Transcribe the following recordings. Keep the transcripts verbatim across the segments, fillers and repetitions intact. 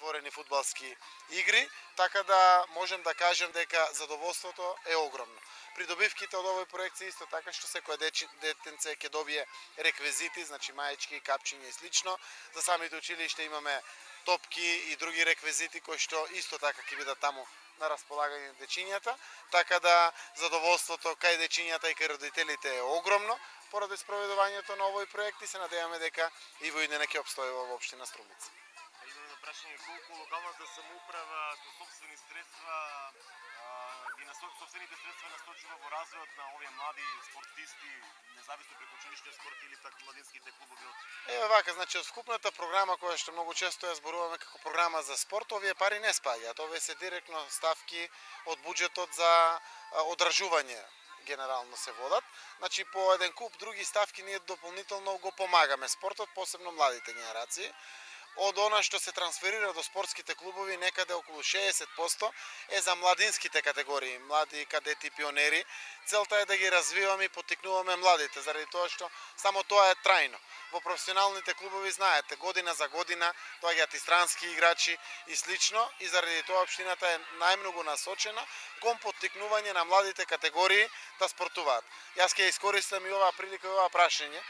отворени фудбалски игри, така да можем да кажем дека задоволството е огромно. Придобивките од овој проект се исто така што секој детенце ќе добие реквизити, значи маечки, капчиња и слично. За самите училишта имаме топки и други реквизити кои што исто така ќе бидат таму на располагање на дечињата, така да задоволството кај дечињата и кај родителите е огромно поради спроведувањето на овој проект и се надеваме дека и во иднина ќе обстојува во општина Струмица. Имаме прашање колку локалната самоуправа со сопствени средства ги насочува сопствените средства насочува во развојот на овие млади спортисти, независно преку училишниот спорт или пак младинските клубови од... Еве вака, значи од вкупната програма која што многу често ја зборуваме како програма за спорт, овие пари не спаѓаат, овие се директно ставки од буџетот за одржување генерално се водат. Значи по еден куп други ставки ние дополнително го помагаме спортот, посебно младите генерации. Од она што се трансферира до спортските клубови, некаде околу шеесет проценти е за младинските категории, млади кадети, пионери. Целта е да ги развиваме и поттикнуваме младите, заради тоа што само тоа е трајно. Во професионалните клубови, знаете, година за година доаѓаат и странски играчи и слично, и заради тоа општината е најмногу насочена кон поттикнување на младите категории да спортуваат. Јас ќе искористам и оваа прилика и ова прашање,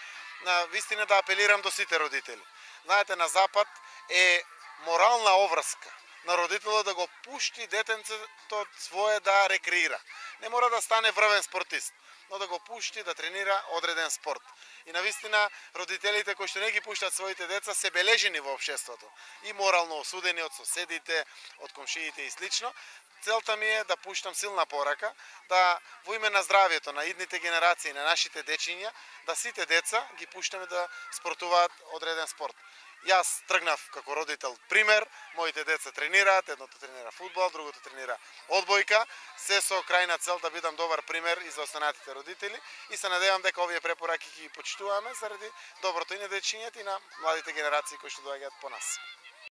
на вистина да апелирам до сите родители. Знаете, на Запад е морална обврска на родителот да го пушти детенцето свое да рекреира. Не мора да стане врвен спортист, но да го пушти да тренира одреден спорт. И навистина родителите кои што не ги пуштат своите деца се бележени во општеството и морално осудени од соседите, од комшиите и слично. Целта ми е да пуштам силна порака, да во име на здравјето на идните генерации, на нашите дечиња, да сите деца ги пуштаме да спортуваат одреден спорт. Јас тргнав како родител пример, моите деца тренираат, едното тренира фудбал, другото тренира одбојка, се со крајна цел да бидам добар пример и за останатите родители и се надевам дека овие препораки ги почитуваме заради доброто и на дечињата и на младите генерации кои што доаѓаат по нас.